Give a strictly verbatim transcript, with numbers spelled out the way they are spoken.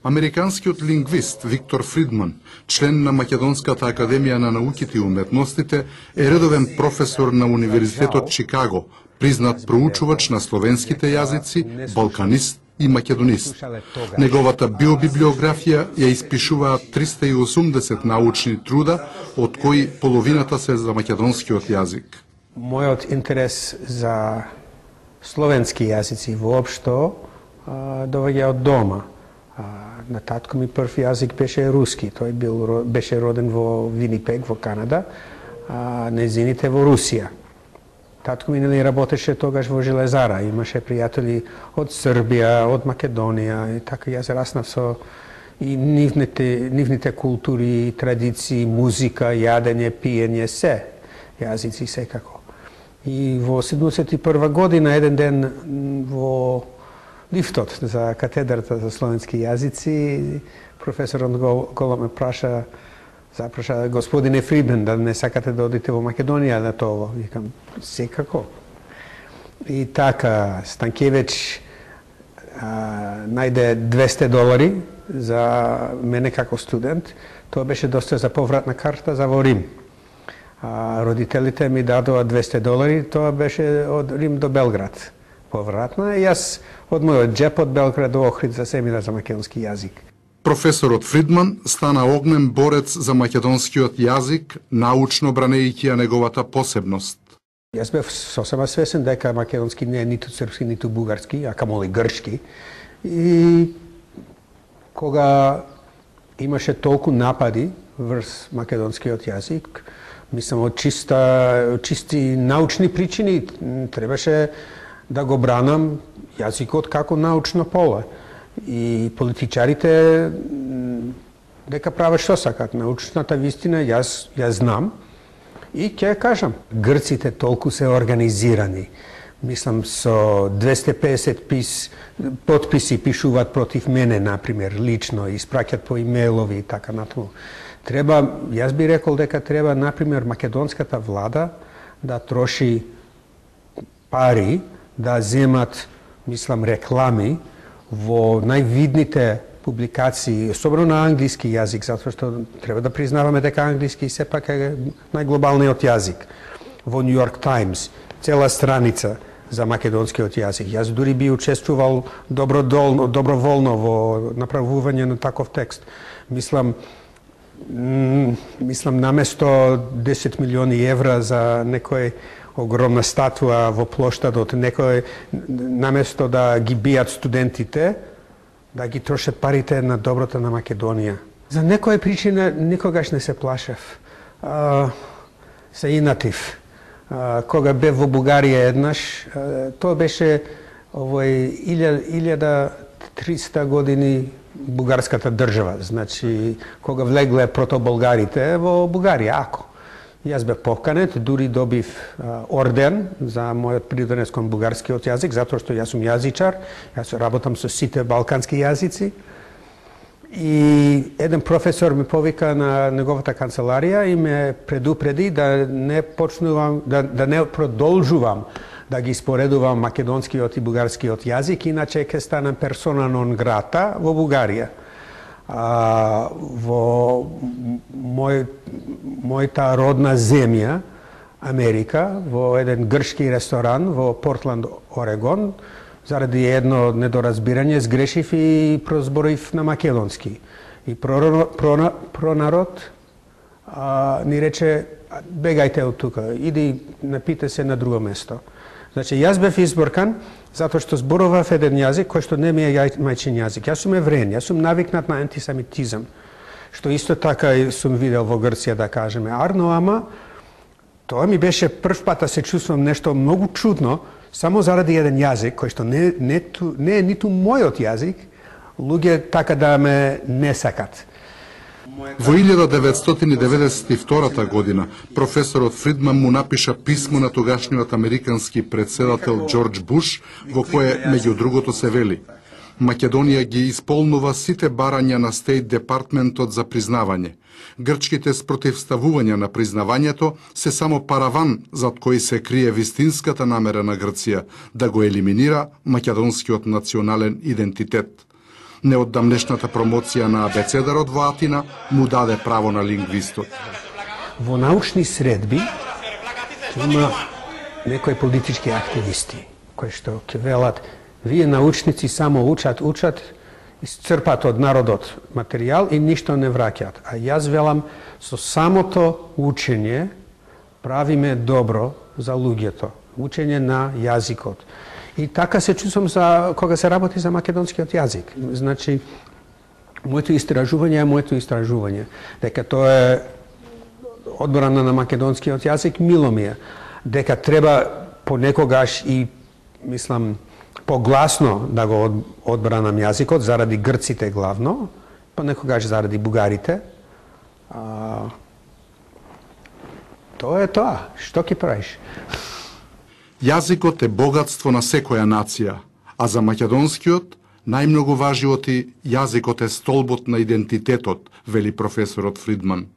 Американскиот лингвист Виктор Фридман, член на Македонската академија на науките и уметностите, е редовен професор на Универзитетот Чикаго, признат проучувач на словенските јазици, балканист и македонист. Неговата биобиблиографија ја испишуваат триста и осумдесет научни труда, од кои половината се за македонскиот јазик. Мојот интерес за словенски јазици воопшто доаѓа од дома. На татко ми прв јазик беше руски. Тој бил, беше роден во Винипег, во Канада, а незините во Русија. Татко ми нели работеше тогаш во железара, имаше пријатели од Србија, од Македонија, и така јас раснав со и нивните, нивните култури, традиции, музика, јадење, пиење, се, јазици секако. И во седумдесет и прва година, еден ден во лифтот за катедрата за словенски јазици, професорот голо ме праша, запраша господине Фридман, да не сакате да одите во Македонија на тоа. Викам, секако. И така, Станкевич а, најде двесте долари за мене како студент. Тоа беше доста за повратна карта за во Рим. А, родителите ми дадоа двесте долари, тоа беше од Рим до Белград. Повратна, и јас од мојот джеп од Белград до Охрид за семинар за македонски јазик. Професорот Фридман стана огнен борец за македонскиот јазик, научно бранејќи ја неговата посебност. Јас бев сосема свесен дека македонски не е ниту српски, ниту бугарски, а камоли грчки. И кога имаше толку напади врз македонскиот јазик, мислам од чиста, чисти научни причини требаше да го бранам јазикот како научно поле. И политичарите дека прават што сакат. Научната вистина јас ја знам и ќе кажам. Грците толку се организирани. Мислам со двесте и песет пис, подписи пишуваат против мене, например, лично, испраќат по имейлови и така натаму. Треба, јас би рекол дека треба, например, македонската влада да троши пари, да земат, мислам, реклами во највидните публикации, особено на англиски јазик, затоа што треба да признаваме дека англиски сепак е најглобалниот јазик. Во Нью Йорк Таймс, цела страница за македонскиот јазик. Јас дури би учествувал добродолно, доброволно во направување на таков текст. Мислам, мислам наместо десет милиони евра за некој огромна статуа во плоштадот, некој наместо да ги бијат студентите, да ги трошат парите на доброто на Македонија. За некоја причина никогаш не се плашев. А, се инатив. А, кога бев во Бугарија еднаш, а, тоа беше овој илјада триста години бугарската држава. Значи, кога влегле протоболгарите во Бугарија, ако. Јас бев поканет, дури добив а, орден за мојот придонес кон бугарскиот јазик, затоа што јас сум јазичар, јас работам со сите балкански јазици. И еден професор ме повика на неговата канцеларија и ме предупреди да не почнувам, да, да не продолжувам да ги споредувам македонскиот и бугарскиот јазик, иначе ќе станам персона нон грата во Бугарија. А, во мој, мојата родна земја, Америка, во еден грчки ресторан во Портланд, Орегон, заради едно недоразбирање сгрешив и прозборив на македонски. И пронарод, пронарод а, ни рече, бегајте од тука, иди напите се на друго место. Значи, јас бев изборкан затоа што зборував еден јазик кој што не ми е мајчин јазик. Јас сум евреен, јас сум навикнат на антисемитизам, што исто така сум видел во Грција, да кажеме. Арно, ама, тоа ми беше прв пат да се чувствам нешто многу чудно, само заради еден јазик, кој што не, не, не е ниту мојот јазик, луѓе така да ме не сакат. Во илјада деветстотини деветдесет и втора година професорот Фридман му напиша писмо на тогашниот американски претседател Џорџ Буш, во кое меѓу другото се вели: Македонија ги исполнува сите барања на Стејт Департментот за признавање. Грчките спротивставувања на признавањето се само параван зад кој се крие вистинската намера на Грција да го елиминира македонскиот национален идентитет. Неоддамнешната промоција на абецедарот во Атина му даде право на лингвистот. Во научни средби има некои политички активисти кои што ќе велат вие научници само учат, учат, исцрпат од народот материјал и ништо не враќаат. А јас велам со самото учење правиме добро за луѓето, учење на јазикот. И така се чувствам за кога се работи за македонскиот јазик. Значи, моето истражување е моето истражување. Дека тоа е одбрана на македонскиот јазик, мило ми е. Дека треба понекогаш и, мислам, погласно да го одбранам јазикот, заради грците главно, понекогаш заради бугарите. А, тоа е тоа. Што ќе правиш? Јазикот е богатство на секоја нација, а за македонскиот најмногу важи оти јазикот е столбот на идентитетот, вели професорот Фридман.